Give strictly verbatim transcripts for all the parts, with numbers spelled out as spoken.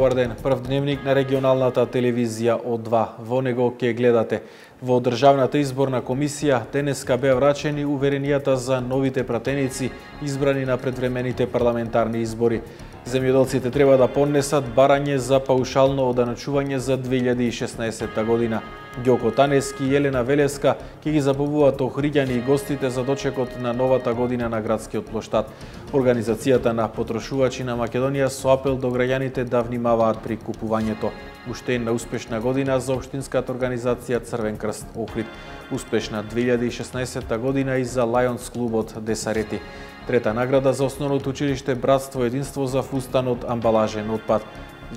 Добар ден, прв дневник на регионалната телевизија О два. Во него ќе гледате. Во Државната изборна комисија денеска беа врачени уверенијата за новите пратеници избрани на предвремените парламентарни избори. Земјоделците треба да поднесат барање за паушално оданочување за две илјади и шеснаесетта година. Ѓоко Танески и Елена Велеска ќе ги забавуваат охриѓани и гостите за дочекот на новата година на градскиот плоштад. Организацијата на потрошувачи на Македонија со апел до граѓаните да внимаваат при купувањето. Уште една успешна година за општинската организација Црвен крст Охрид. Успешна две илјади и шеснаесетта година и за Лајонс клубот Десарети. Трета награда за основното училиште Братство и единство за фустанот амбалажен отпад.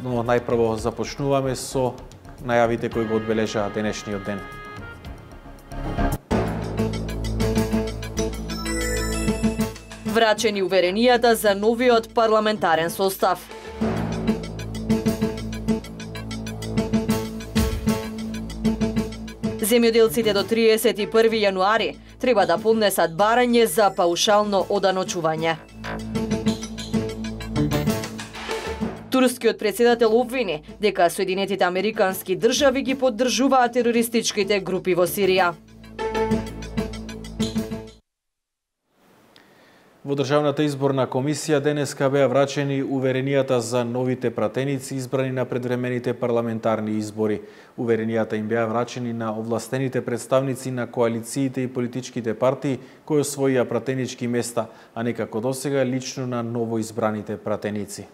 Но најпрво започнуваме со најавите кои го одбележаа денешниот ден. Врачени уверенијата за новиот парламентарен состав. Земјоделците до триесет и први јануари треба да поднесат барање за паушално оданочување. Турскиот претседател обвини дека Соединетите Американски држави ги поддржуваат терористичките групи во Сирија. Во Државната изборна комисија денеска беа врачени уверенијата за новите пратеници избрани на предвремените парламентарни избори. Уверенијата им беа врачени на овластените представници на коалициите и политичките партии кои освоија пратенички места, а не како досега лично на новоизбраните пратеници.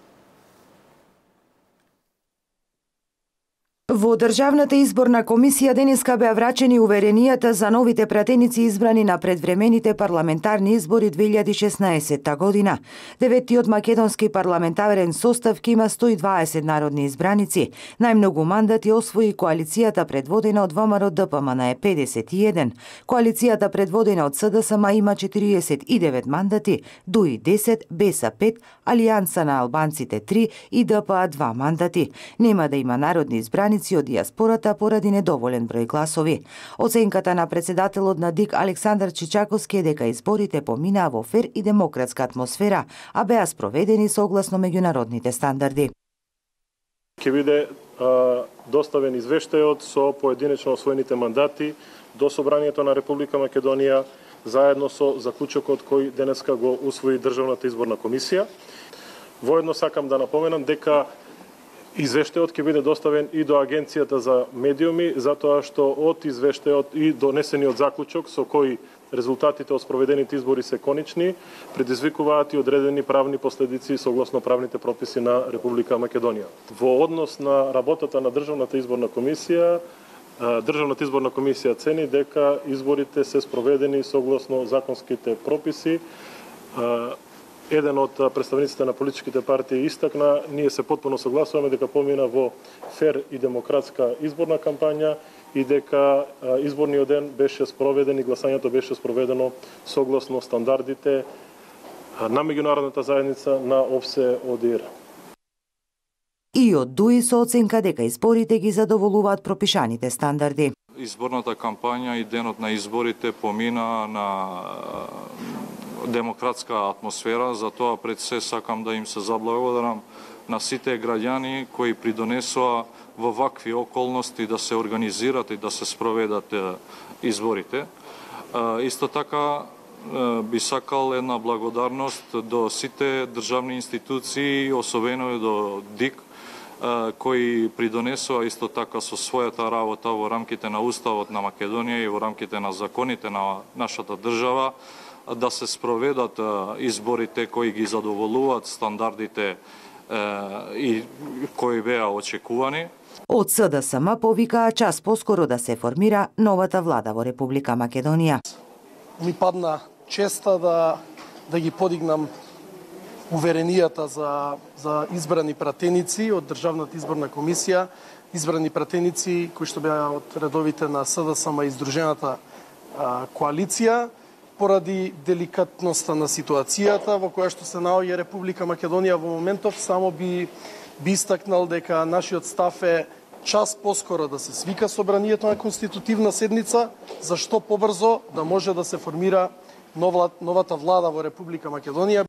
Во Државната изборна комисија денеска беа врачени уверенијата за новите пратеници избрани на предвремените парламентарни избори две илјади и шеснаесетта година. Деветиот македонски парламентарен состав ќе има сто и дваесет народни избраници. Најмногу мандати освои коалицијата предводена од ВМРО Д П М Н е педесет и еден. Коалицијата предводена од С Д С М има четириесет и девет мандати, Д У И десет, Б Е С пет, Алијанса на албанците три и Д П А два мандати. Нема да има народни избраници од дијаспората поради недоволен број гласови. Оценката на председателот на Д И К Александар Чичаковски е дека изборите поминаа во фер и демократска атмосфера, а беа спроведени согласно меѓународните стандарди. Ќе биде а, доставен извештајот со поединечно освоените мандати до Собранието на Република Македонија заедно со заклучокот кој денеска го усвои Државната изборна комисија. Воедно сакам да напоменам дека извештајот ќе биде доставен и до Агенцијата за медиуми, затоа што од извештајот и донесениот заклучок со кој резултатите од спроведените избори се конечни, предизвикуваат и одредени правни последици согласно правните прописи на Република Македонија. Во однос на работата на Државната изборна комисија, Државната изборна комисија цени дека изборите се спроведени согласно законските прописи. Еден од представниците на политичките партии истакна, ние се потпуно согласуваме дека помина во фер и демократска изборна кампања и дека изборниот ден беше спроведен и гласањето беше спроведено согласно стандардите на меѓународната заедница на ОВСЕ О Д И Р. И од Д У И со оценка дека изборите ги задоволуваат пропишаните стандарди. Изборната кампања и денот на изборите помина на демократска атмосфера, затоа пред се сакам да им се заблагодарам на сите граѓани кои придонесоа во вакви околности да се организират и да се спроведат изборите. Исто така би сакал една благодарност до сите државни институции, особено до Д И К, кои придонесоа исто така со својата работа во рамките на Уставот на Македонија и во рамките на законите на нашата држава да се спроведат изборите кои ги задоволуваат стандардите и кои беа очекувани. Од С Д С М повикаа час поскоро да се формира новата влада во Република Македонија. Ми падна честа да да ги подигнам уверенијата за за избрани пратеници од Државната изборна комисија, избрани пратеници кои што беа од редовите на С Д С М и Сдружената а, коалиција, поради деликатноста на ситуацијата во која што се наоѓа Република Македонија во моментов, само би би истакнал дека нашиот став е час поскоро да се свика собранието на конститутивна седница, за што побрзо да може да се формира нова, новата влада во Република Македонија.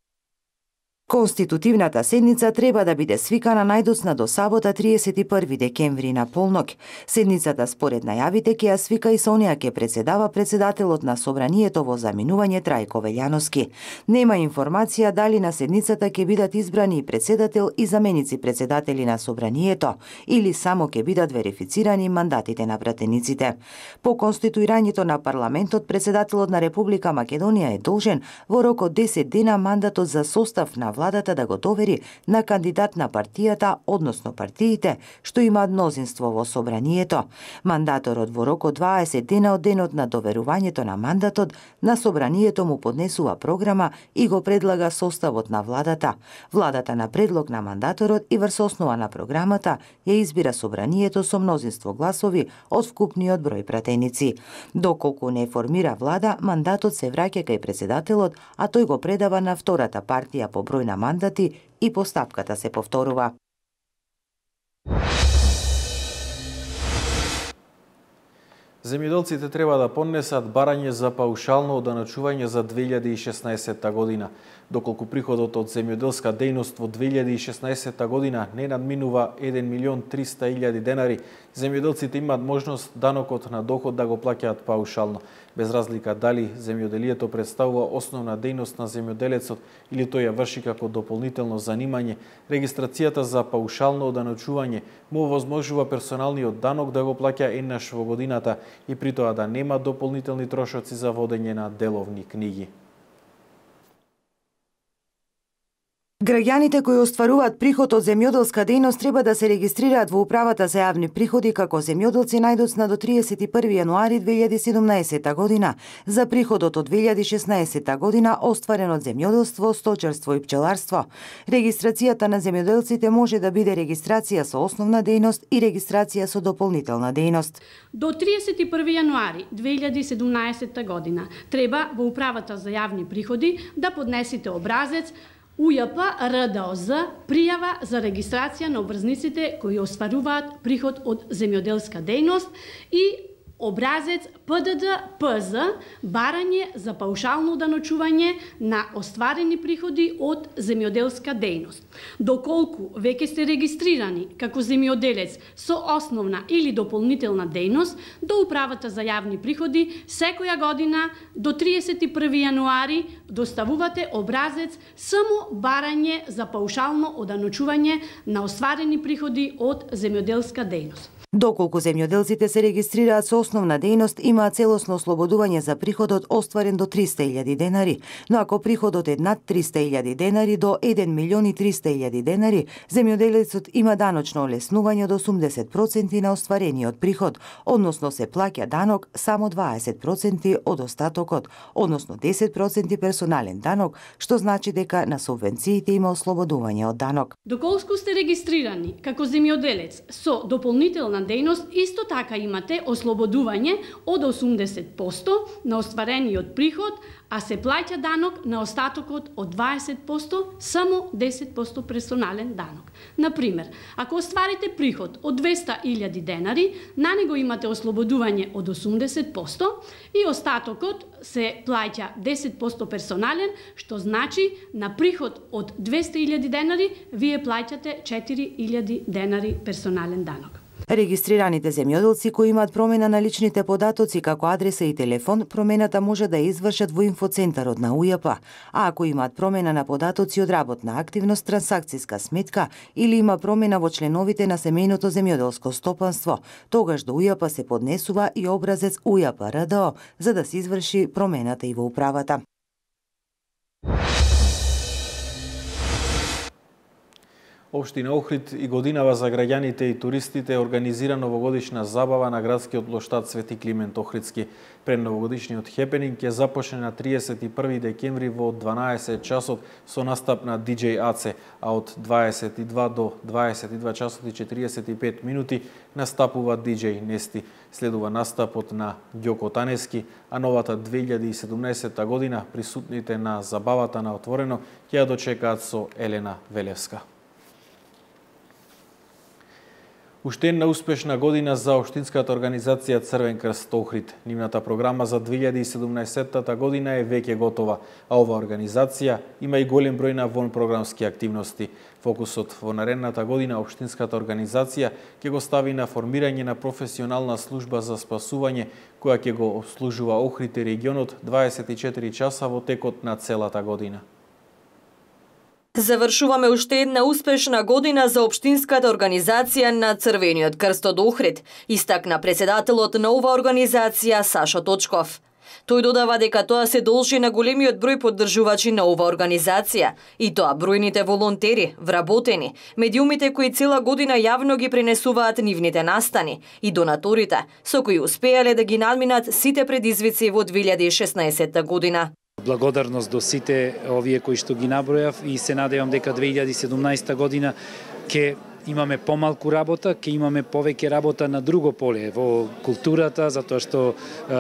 Конститутивната седница треба да биде свикана најдоцна до сабота триесет и први декември на полнок. Седницата според најавите ќе ја свика и со неа ќе председава председателот на Собранието во заминување Трајко Велјановски. Нема информација дали на седницата ќе бидат избрани и председател и заменици председатели на Собранието или само ќе бидат верифицирани мандатите на пратениците. По конституирањето на парламентот, председателот на Република Македонија е должен во рок од десет дена мандатот за состав на владата да го довери на кандидат на партијата, односно партиите, што имаат мнозинство во Собранието. Мандаторот во рок од дваесет дена од денот на доверувањето на мандатот на Собранието му поднесува програма и го предлага составот на владата. Владата на предлог на мандаторот и врз основа на програмата ја избира Собранието со мнозинство гласови од вкупниот број пратеници. Доколку не формира влада, мандатот се враќа кај председателот, а тој го предава на втората партија по број на мандати и постапката се повторува. Земјоделците треба да поднесат барање за паушално оданачување за две илјади и шеснаесетта година. Доколку приходот од земјоделска дејност во две илјади и шеснаесетта година не надминува еден милион триста илјади денари, земјоделците имаат можност данокот на доход да го плаќаат паушално, без разлика дали земјоделието представува основна дејност на земјоделецот или тој ја врши како дополнително занимање. Регистрацијата за паушално оданачување му овозможува персоналниот данок да го плаќа еднаш во годината и при тоа да нема дополнителни трошоци за водење на деловни книги. Граѓаните кои остваруваат приход од земјоделска дејност треба да се регистрираат во Управата за јавни приходи како земјоделци најдоцна до триесет и први јануари две илјади и седумнаесетта година за приходот од две илјади и шеснаесетта година остварен од земјоделство, сточарство и пчеларство. Регистрацијата на земјоделците може да биде регистрација со основна дејност и регистрација со дополнителна дејност. До триесет и први јануари две илјади и седумнаесетта година треба во Управата за јавни приходи да поднесете образец У Ј П Р Д О З пријава за регистрација на обврзниците кои остваруваат приход од земјоделска дејност и образец П Д Д П З барање за паушално даночување на остварени приходи од земјоделска дејност. Доколку веќе сте регистрирани како земјоделец со основна или дополнителна дејност, до Управата за јавни приходи секоја година до триесет и први јануари доставувате образец само барање за паушално оданочување на остварени приходи од земјоделска дејност. Доколку земјоделците се регистрираат со основна дејност, имаат целосно ослободување за приходот остварен до триста илјади денари, но ако приходот е над триста илјади денари до еден милион и триста илјади денари, земјоделецот има даночно олеснување од осумдесет проценти на остварениот приход, односно се плаќа данок само дваесет проценти од остатокот, односно десет проценти персонален данок, што значи дека на субвенциите има ослободување од данок. Доколку сте регистрирани како земјоделец со дополнителна дејност, исто така имате ослободување од осумдесет проценти на остварениот приход, а се плаќа данок на остатокот од дваесет проценти, само десет проценти персонален данок. Например, ако остварите приход од двеста илјади денари, на него имате ослободување од осумдесет проценти и остатокот се плаќа десет проценти персонален, што значи на приход од двеста илјади денари вие плаќате четири илјади денари персонален данок. Регистрираните земјоделци кои имаат промена на личните податоци како адреса и телефон, промената може да ја извршат во инфоцентарот на У Ј П, а ако имаат промена на податоци од работна активност, трансакцијска сметка или има промена во членовите на семејното земјоделско стопанство, тогаш до У Ј П се поднесува и образец У Ј П Р Д О за да се изврши промената и во управата. Општина Охрид и годинава за граѓаните и туристите организира новогодишна забава на градскиот плоштад Свети Климент Охридски. Пред новогодишниот хепенинг ќе започне на триесет и први декември во дванаесет часот со настап на Ди Џеј Аце, а од дваесет и два до дваесет и два часот и четириесет и пет минути настапува Ди Џеј Нести. Следува настапот на Ѓоко Танески, а новата две илјади и седумнаесетта година присутните на забавата на отворено ќе ја дочекаат со Елена Велевска. Уште една успешна година за општинската организација Црвен крст Охрид. Нивната програма за две илјади и седумнаесеттата година е веќе готова, а ова организација има и голем број на вонпрограмски активности. Фокусот во наредната година општинската организација ќе го стави на формирање на професионална служба за спасување, која ќе го обслужува Охрид и регионот дваесет и четири часа во текот на целата година. Завршуваме уште една успешна година за општинската организација на Црвениот крст од Охрид, истакна председателот на ова организација Сашо Точков. Тој додава дека тоа се должи на големиот број поддржувачи на ова организација, и тоа бројните волонтери, вработени, медиумите кои цела година јавно ги пренесуваат нивните настани и донаторите, со кои успеале да ги надминат сите предизвици во две илјади и шеснаесетта година. Благодарност до сите овие кои што ги набројав и се надевам дека две илјади и седумнаесетта година ќе имаме помалку работа, ќе имаме повеќе работа на друго поле, во културата, затоа што е,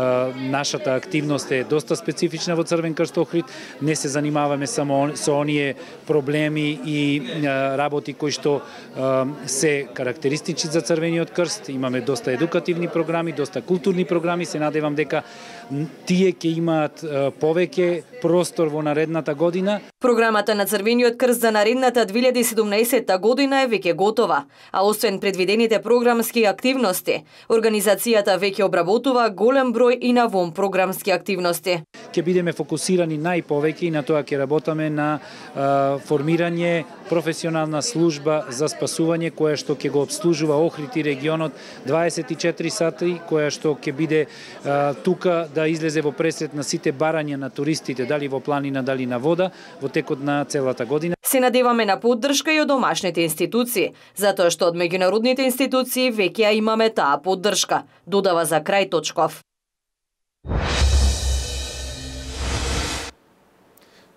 нашата активност е доста специфична во Црвен крст Охрид. Не се занимаваме само со оние проблеми и е, работи кои што е, се карактеристични за Црвениот крст. Имаме доста едукативни програми, доста културни програми. Се надевам дека тие ќе имаат е, повеќе простор во наредната година. Програмата на Црвениот крст за наредната две илјади и седумнаесетта година е веќе готова, а освен предвидените програмски активности, организацијата веќе обработува голем број и на вонпрограмски активности. Ќе бидеме фокусирани најповеќе и на тоа ќе работаме на а, формирање професионална служба за спасување која што ќе го обслужува Охрид и регионот дваесет и четири сати, која што ќе биде а, тука да излезе во пресрет на сите барања на туристите, дали во планина, дали на вода, во текот на целата година. Се надеваме на поддршка и од домашните институции, затоа што од меѓународните институции веќе ја имаме таа поддршка, додава за крај Точков.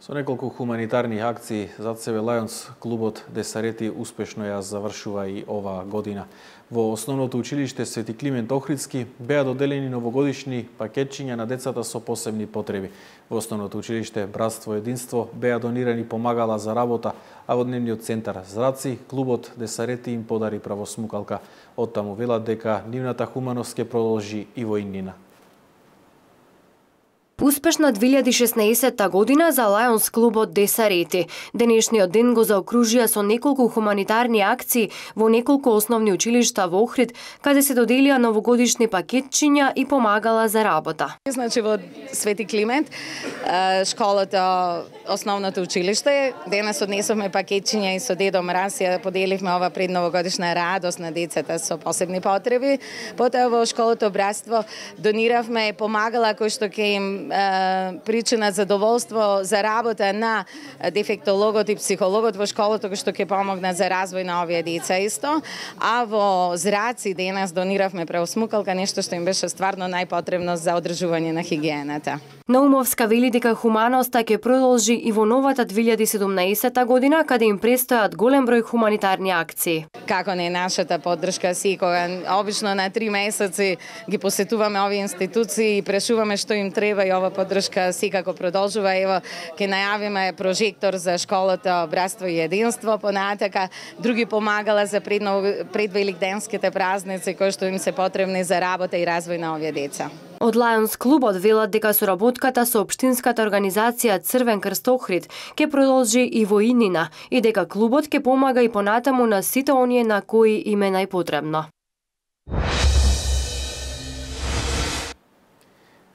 Со неколку хуманитарни акции зад себе Лајонс клубот Десарети успешно ја завршува и оваа година. Во основното училиште Свети Климент Охридски беа доделени новогодишни пакетчиња на децата со посебни потреби. Во основното училиште Братство и единство беа донирани помагала за работа, а во дневниот центар Зраци клубот Десарети им подари правосмукалка. Оттаму велат дека нивната хуманост ќе продолжи и во иднина. Успешна две илјади и шеснаесетта година за Лајонс клубот Десарети. Денешниот ден го заокружија со неколку хуманитарни акции во неколку основни училишта во Охрид, каде се доделија новогодишни пакетчиња и помагала за работа. Значи во Свети Климент, школата, основното училиште, денес однесовме пакетчиња и со Дедо Мраз ја поделивме ова предновогодишна радост на децата со посебни потреби. Потоа во школата Братство дониравме помагала кои што ќе им причина задоволство за работа на дефектологот и психологот во школата, кој што ќе помогнат за развој на овие деца исто. А во Зраци денес дониравме преосмукалка, нешто што им беше стварно најпотребно за одржување на хигиената. Наумовска вели дека хуманоста ќе продолжи и во новата две илјади и седумнаесетта година, каде им престојат голем број хуманитарни акции. Како не нашата поддршка секога, обично на три месеци ги посетуваме овие институции и прашуваме што им треба и ова поддршка секако продолжува. Ево, ќе најавиме прожектор за школата Братство и единство, понатака други помагала за предвеликденските празници кои што им се потребни за работа и развој на овие деца. Од Лајонс клубот велат дека соработката со општинската организација Црвен крст Охрид ќе продолжи и во иднина и дека клубот ќе помага и понатаму на сите оние на кои им е најпотребно.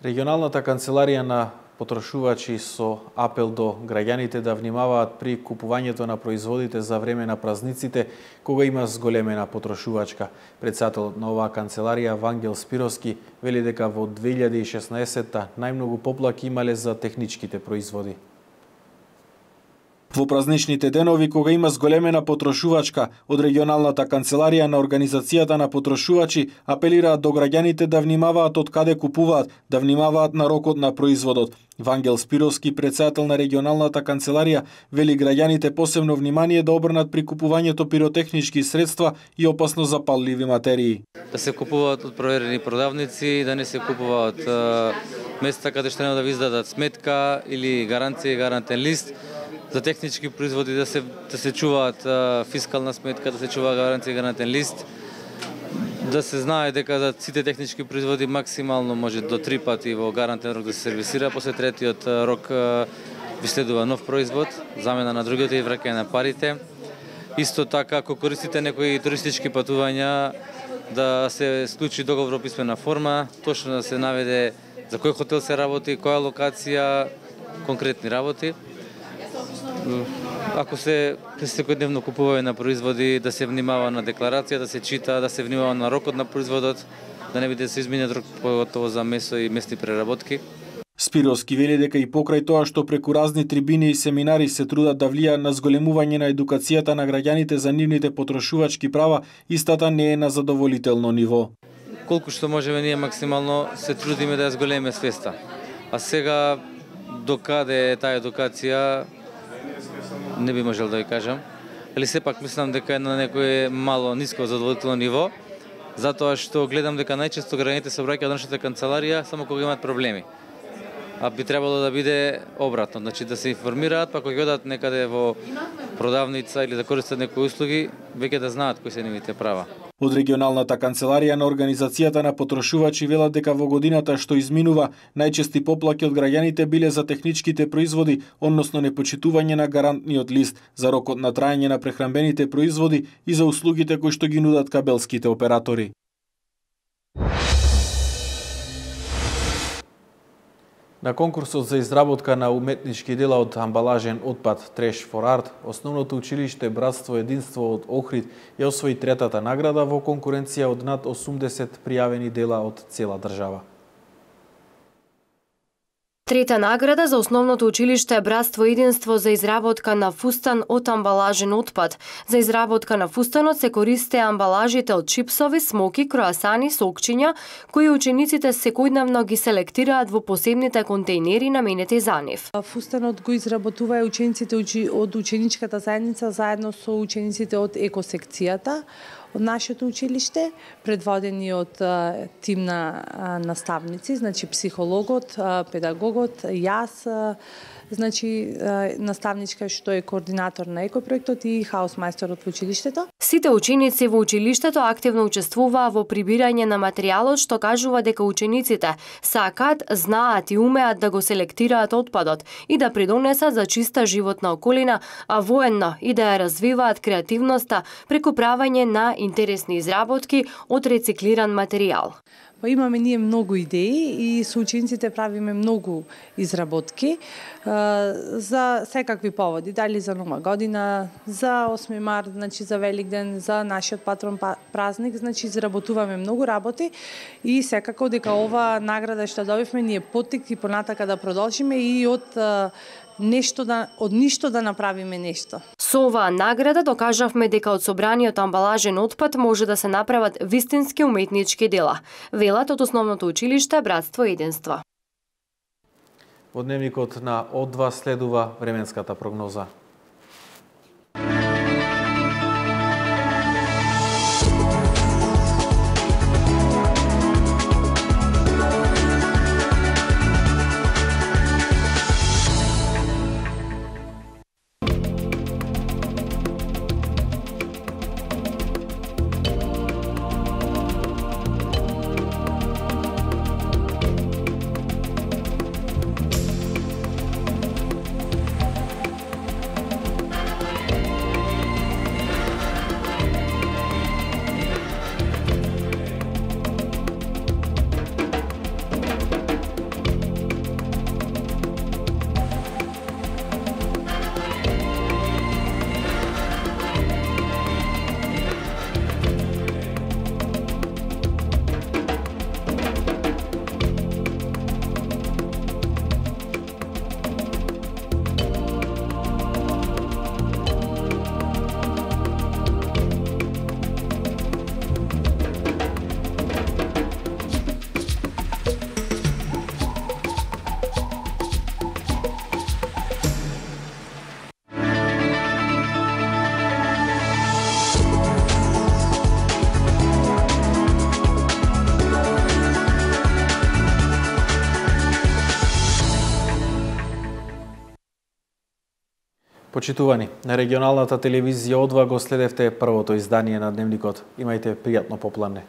Регионалната канцеларија на потрошувачи со апел до граѓаните да внимаваат при купувањето на производите за време на празниците, кога има зголемена потрошувачка. Председателот на оваа канцеларија Вангел Спировски вели дека во две илјади и шеснаесетта најмногу поплаки имале за техничките производи. Во празничните денови, кога има зголемена потрошувачка, од регионалната канцеларија на Организацијата на потрошувачи апелираат до граѓаните да внимаваат од каде купуваат, да внимаваат на рокот на производот. Вангел Спировски, председател на регионалната канцеларија, вели граѓаните посебно внимание да обрнат при купувањето пиротехнички средства и опасно запалливи материи. Да се купуваат од проверени продавници, да не се купуваат места каде што нема да ви издадат сметка или гаранција и гарантен лист. За технички производи да се да се чуваат а, фискална сметка, да се чува гаранција и гарантен лист. Да се знае дека за сите технички производи максимално може до три пати во гарантен рок да се сервисира, после третиот рок ви следува нов производ, замена на другите и враќање на парите. Исто така, ако користите некои туристички патувања, да се склучи договор во писмена форма, точно да се наведе за кој хотел се работи, која локација, конкретни работи. Ако се секојдневно купување на производи, да се внимава на декларација, да се чита, да се внимава на рокот на производот, да не биде да се измине рок, поготово за месо и месни преработки. Спировски вели дека и покрај тоа што преку разни трибини и семинари се трудат да влијаат на зголемување на едукацијата на граѓаните за нивните потрошувачки права, истата не е на задоволително ниво. Колку што можеме ние максимално се трудиме да ја зголеме свеста. А сега докаде е таа едукација не би можел да ви кажам, али сепак мислам дека е на некое мало ниско задоволително ниво, затоа што гледам дека најчесто граѓаните се обраќаат до нашата канцеларија само кога имаат проблеми. А би требало да биде обратно, значи да се информираат, па кога одат некаде во продавница или да користат некои услуги, веќе да знаат кои се нивните права. Од регионалната канцеларија на Организацијата на потрошувачи велат дека во годината што изминува, најчести поплаки од граѓаните биле за техничките производи, односно непочитување на гарантниот лист, за рокот на траење на прехранбените производи и за услугите кои што ги нудат кабелските оператори. На конкурсот за изработка на уметнички дела од амбалажен отпад Trash for Art, основното училиште Братство Единство од Охрид ја освои третата награда во конкуренција од над осумдесет пријавени дела од цела држава. Трета награда за основното училиште Братство Единство за изработка на фустан од амбалажен отпад. За изработка на фустанот се користе амбалажите од чипсови, смоки, круасани, сокчиња, кои учениците секојдневно ги селектираат во посебните контејнери наменети за нив. Фустанот го изработуваа учениците од ученичката заедница заедно со учениците од екосекцијата од нашето училиште, предводени од тим на наставници, значи психологот, педагогот, јас, значи наставничка што е координатор на екопроектот и хаусмајсторот во училиштето. Сите ученици во училиштето активно учествуваа во прибирање на материјалот, што кажува дека учениците сакаат, знаат и умеат да го селектираат отпадот и да придонесат за чиста животна околина, а воедно и да ја развиваат креативноста преку правење на интересни изработки од рециклиран материјал. Па имаме ние многу идеи и со учениците правиме многу изработки за секакви поводи, дали за Нова година, за осми март, значи за Великден, за нашиот патрон празник, значи изработуваме многу работи и секако дека ова награда што добивме ни е поттик и понатака да продолжиме и од нешто да од ништо да направиме нешто. Со оваа награда докажавме дека од собраниот амбалажен отпад може да се направат вистински уметнички дела, велат од основното училиште Братство Единство. Во дневникот на О два следува временската прогноза. Почитувани, на регионалната телевизија О два го следевте првото издание на Дневникот. Имајте пријатно попладне.